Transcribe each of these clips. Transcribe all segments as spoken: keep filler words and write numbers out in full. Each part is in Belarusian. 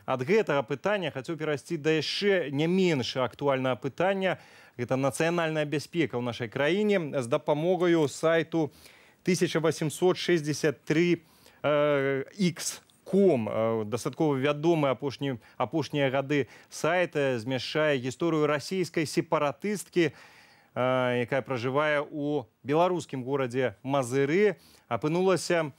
ад гэтага пытання хацеў перайсці да яшчэ не менш актуальнага пытання. Это нацыянальная бяспека ў нашай краіне з дапамогаю сайту тысяча восемьсот шестьдесят три икс ком. Дастаткова вядомы апошні, апошнія гады сайт змяшчае гісторыю расійскай сепаратысткі, якая пражывае ў беларускім горадзе Мазыры. Апынулася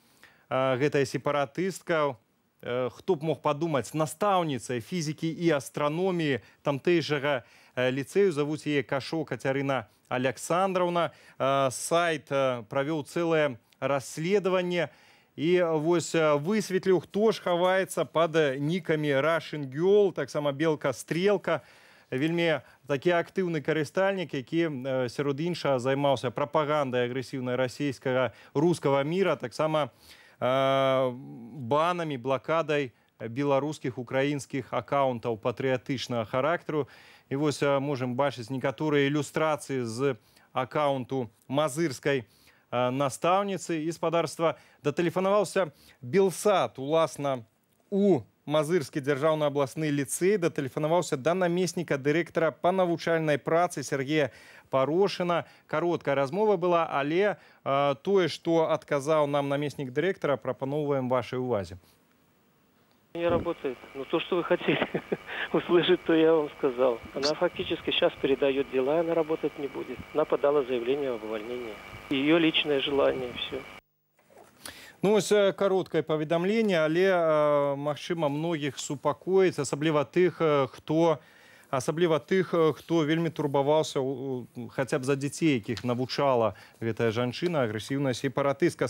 гэтая сепаратыстка, хто б мог падумаць, настаўніцай фізікі і астраноміі тамтэйшага ліцэю, завуць яе Кашо Кацярына Александраўна. Сайт правёў цэлае расследаванне і вось высветліў, хто ж хаваецца пад нікамі Russian Girl, таксама Белка Стрелка. Вельмі такі актыўны карыстальнік, які сярод іншага займаўся прапагандай агрэсіўнай расійскага рускага міра, таксама банамі, блакадай беларускіх, украінскіх акаунтаў патрыятычнага характару. І вось можам бачыць некаторыя ілюстрацыі з акаунту мазырскай настаўніцы. І спадарства датэлефанаваўся Белсат, уласна, у Мазырскі дзяржаўны абласны ліцэй, датэлефанаваўся да намесніка дырэктара па навучальнай працы Сергея Парошына. Кароткая размова была, але э, тое, што адказаў нам намеснік дырэктара, прапаноўваем вашай увазе. Не работает. Но то, что вы хотели услышать, то я вам сказал. Она фактически сейчас передает дела, она работать не будет. Она подала заявление об увольнении. Ее личное желание, все. Ну, ось кароткае паведамленне, але, магчыма, многіх супакоіць, асабліва тых, хто асабліва тых, хто вельмі турбаваўся хаця б за дзяцей, якіх навучала гэтая жанчына, агрэсіўная сепаратыстка.